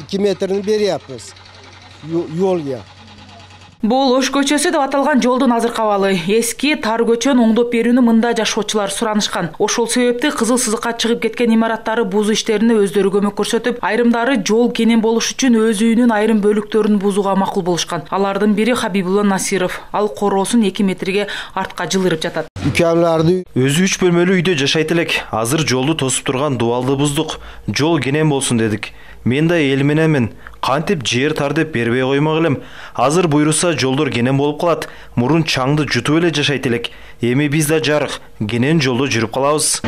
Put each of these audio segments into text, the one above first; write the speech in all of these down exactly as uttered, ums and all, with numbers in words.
эки метрин бериаппыз жолго. Бул Ош көчөсү деп аталган жолдун азыркы абалы. Эски тар көчөнү оңдоп берүүнү мында жашоочулар суранышкан. Ошол себепти кызыл сызыкка чыгып кеткен имараттары бузуу иштерине өздөрү көмөк көрсөтүп, айрымдары жол кенен болуш үчүн өз үйүнүн айрым бөлүктөрүн бузууга макул болушкан. Алардын бири Хабибулла Насиров. Ал короосун эки метрге артка жылырып жатат. Үкемларды өзү үч бөлмөлүү үйдө жашайт элек. Азыр жолду тосуп турган дубалды буздук. Жол кенен болсун дедик. Мен да эл мененмин. Кантип жер тар деп бербей коймок элем. Азыр буйруса жолдор кенен болуп калат. Мурун чаңды жутуп эле жашайт элек. Эми биз да жарык, кенен жолдо жүрүп калабыз.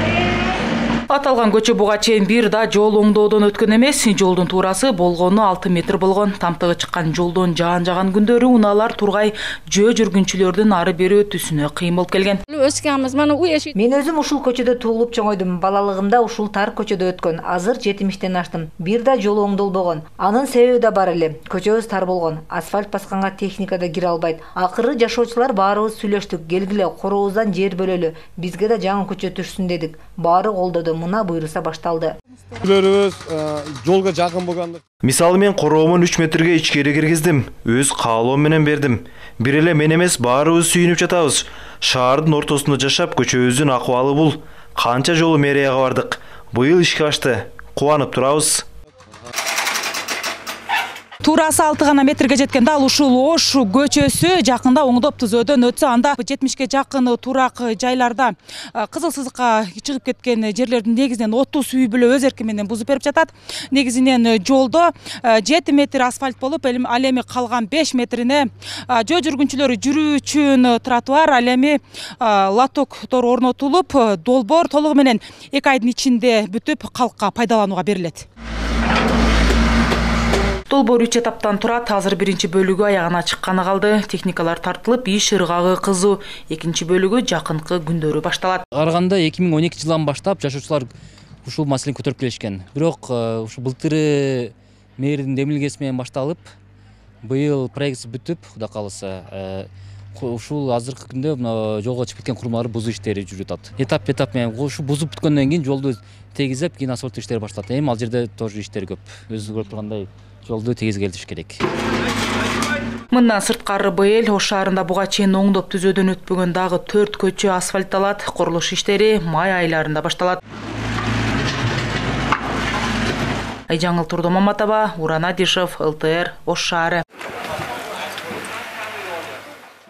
Аталган көчө буга чейин бир да жол оңдоодон өткөн эмес. Жолдун туурасы болгону алты метр болгон. Тамтыгы чыккан жолдон жаан жаган күндөрү унаалар тургай жөө жүргүнчүлөрдүн ары бери өтүүсүнө кыйын болуп келген. Мен өзүм ушул көчөдө туулуп чоңойдум. Балалыгымда ушул тар көчөдө өткөн. Азыр жетимиштен аштым. Бир да жол оңдолбогон. Анын себеби да бар эле. Көчөбүз тар болгон. Асфальт басканга техника да кире албайт. Акыры жашоочулар баарыбыз сүйлөштүк. Келгиле, корообуздан жер бөлөлү. Бизге да жаңы көчө түшсүн дедик. Баары колдоду. Мына буйруса башталды. Үйлөрүбүз жолго жакын болгондук. Мисалы мен короомун үч метрге ичкери киргиздим. Өз каалоом менен бердим. Бир эле мен эмес баарыбыз сүйүнүп жатабыз. Шаардын ортосунда жашап көчөбүздүн акыбалы бул. Канча жолу мэрияга бардык. Быйыл ишке ашты. Кубанып турабыз. Туурасы алты гана метрге жеткен дал ушул Ош көчөсү жакында оңдоп түзөөдөн өтсө, анда жетимишке жакын турак жайларда кызыл сызыкка чыгып кеткен жерлердин негизинен отуз үй бүлө өз эрки менен бузуп берип жатат. Негизинен жолдо жети метр асфальт болуп, ал эми калган беш метрине жөө жүргүнчүлөр жүрүү үчүн тротуар, ал эми лотоктор орнотулуп, долбоор толугу менен эки айдын ичинде бүтүп калкка пайдаланууга берилет. Долбоор үч этаптан турат. Азыр биринчи бөлүгү аягына чыкканы калды. Техникалар тартылып, иш ыргагы кызуу. Экинчи бөлүгү жакынкы күндөрү башталат. Караганда эки миң он экинчи жылдан баштап жашоочулар ушул маселени көтөрүп келишкен. Бирок ушу былтыры мэрдин демилгеси менен башталып, быйыл проект бүтүп, Кудай кааласа, ушул азыркы күндө жолго чыгып кеткен курмаларды бузуу иштери жүрүп жатат. Этап этап менен ушу бузуп бүткөндөн кийин жолду тегизеп, кийин асфальт иштери башталат. Эми ал жерде тоже иштер көп. Өзүңүз көрүп тургандай жолду тегизгелдиш керек. Мындан сырткары быйыл Ош шаарында буга чейин оңдоп түзөөдөн өтпөгөн дагы төрт көчө асфальтталат. Курулуш иштери май айларында башталат. Айжаңыл Турдомаматова, Уран Адишев, эл тэ эр, Ош шаары.